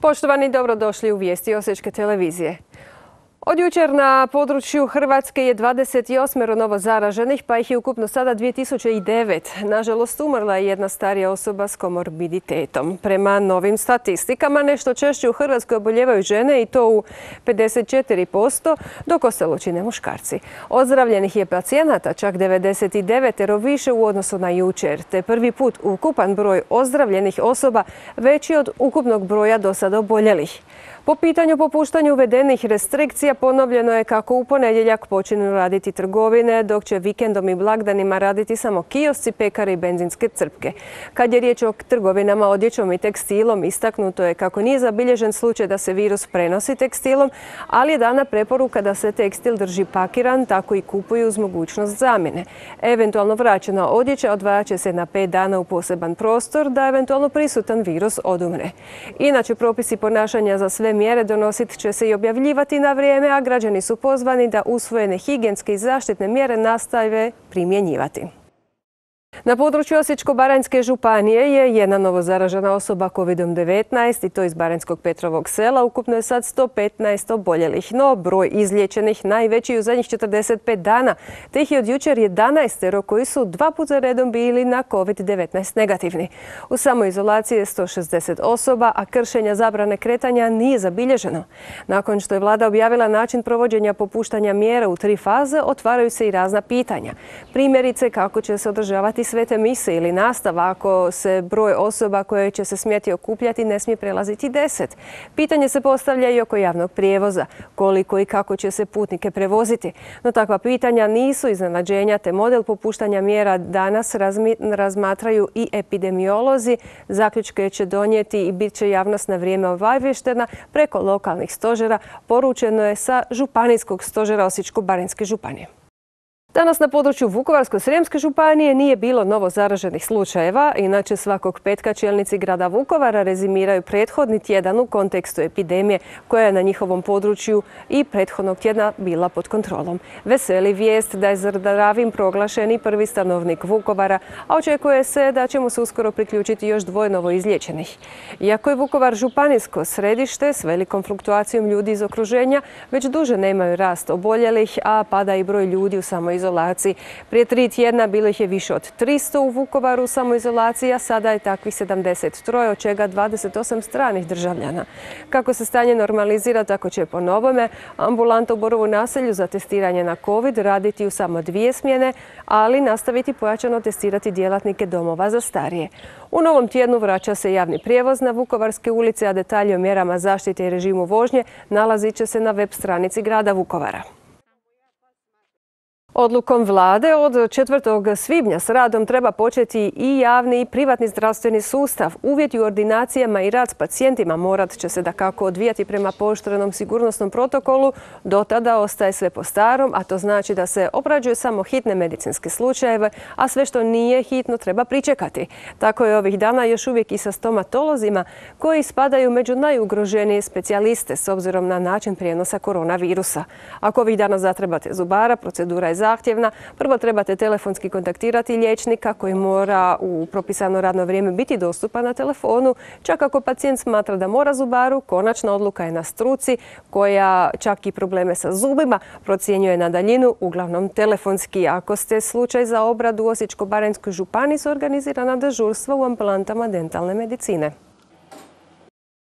Poštovani, dobrodošli u vijesti Osječke televizije. Od jučer na području Hrvatske je 28 novo zaraženih, pa ih je ukupno sada 2009. Nažalost, umrla je jedna starija osoba s komorbiditetom. Prema novim statistikama, nešto češće u Hrvatskoj oboljevaju žene i to u 54%, dok ostalo čine muškarci. Ozdravljenih je pacijenata čak 99 više u odnosu na jučer, te prvi put ukupan broj ozdravljenih osoba veći od ukupnog broja do sada oboljelih. Po pitanju popuštanja uvedenih restrikcija ponovljeno je kako u ponedjeljak počinju raditi trgovine, dok će vikendom i blagdanima raditi samo kiosci, pekare i benzinske crpke. Kad je riječ o trgovinama odjećom i tekstilom, istaknuto je kako nije zabilježen slučaj da se virus prenosi tekstilom, ali je dana preporuka da se tekstil drži pakiran, tako i kupuju uz mogućnost zamjene. Eventualno vraćena odjeća odvajat će se na 5 dana u poseban prostor da eventualno prisutan virus odumre. Inače, propisi ponašanja za sve mjere donosit će se i objavljivati na vrijeme, a građani su pozvani da usvojene higijenske i zaštitne mjere nastave primjenjivati. Na području Osječko-baranjske županije je jedna novo zaražena osoba COVID-19 i to iz Baranjskog Petrovog sela. Ukupno je sad 115 oboljelih, no broj izliječenih najveći u zadnjih 45 dana, te ih je od jučer 11 koji su 2 puta redom bili na COVID-19 negativni. U samoizolaciji je 160 osoba, a kršenja zabrane kretanja nije zabilježeno. Nakon što je vlada objavila način provođenja popuštanja mjera u 3 faze, otvaraju se i razna pitanja. Primjerice, kako će se održavati svete mise ili nastava ako se broj osoba koje će se smjeti okupljati ne smije prelaziti 10. Pitanje se postavlja i oko javnog prijevoza, koliko i kako će se putnike prevoziti. No takva pitanja nisu iznenađenja, te model popuštanja mjera danas razmatraju i epidemiolozi. Zaključke će donijeti i bit će javnost na vrijeme obavještena preko lokalnih stožera, poručeno je sa Županijskog stožera Osječko-baranjske županije. Danas na području Vukovarsko-srijemske županije nije bilo novo zaraženih slučajeva, inače svakog petka čelnici grada Vukovara rezimiraju prethodni tjedan u kontekstu epidemije koja je na njihovom području i prethodnog tjedna bila pod kontrolom. Veseli vijest da je zdravim proglašen i prvi stanovnik Vukovara, a očekuje se da će mu se uskoro priključiti još 2 novo izliječenih. Iako je Vukovar županijsko središte s velikom fluktuacijom ljudi iz okruženja, već duže nemaju rast oboljelih, a pada i broj ljudi u samoizolaciji. Prije 3 tjedna bilo ih je više od 300 u Vukovaru u samoizolaciji, a sada je takvih 73, od čega 28 stranih državljana. Kako se stanje normalizira, tako će po novome ambulanta u Borovu naselju za testiranje na COVID raditi u samo 2 smjene, ali nastaviti pojačano testirati djelatnike domova za starije. U novom tjednu vraća se javni prijevoz na Vukovarske ulice, a detalji o mjerama zaštite i režimu vožnje nalazit će se na web stranici grada Vukovara. Odlukom vlade od 4. svibnja s radom treba početi i javni i privatni zdravstveni sustav. Uvjeti u ordinacijama i rad s pacijentima morat će se dakako odvijati prema pooštrenom sigurnosnom protokolu. Do tada ostaje sve po starom, a to znači da se obrađuje samo hitne medicinske slučajeve, a sve što nije hitno treba pričekati. Tako je ovih dana još uvijek i sa stomatolozima koji spadaju među najugroženije specijaliste s obzirom na način prijenosa koronavirusa. Ako ovih dana zatrebate zubara, procedura je zahtjevna. Prvo trebate telefonski kontaktirati liječnika koji mora u propisano radno vrijeme biti dostupan na telefonu. Čak ako pacijent smatra da mora zubaru, konačna odluka je na struci koja čak i probleme sa zubima procjenjuje na daljinu, uglavnom telefonski. Ako ste slučaj za obradu u Osječko-baranjskoj županiji, su organizirana dežurstva u ambulantama dentalne medicine.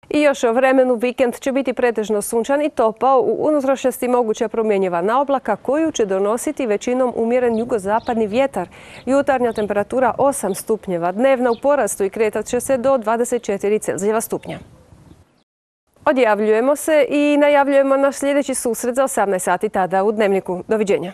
I još o vremenu, vikend će biti pretežno sunčan i topao, u unutrašnjosti moguća promjenjiva naoblaka koju će donositi većinom umjeren jugozapadni vjetar. Jutarnja temperatura 8 stupnjeva, dnevna u porastu i kretat će se do 24 Celzijeva stupnja. Odjavljujemo se i najavljujemo naš sljedeći susret za 18 sati tada u Dnevniku. Doviđenja.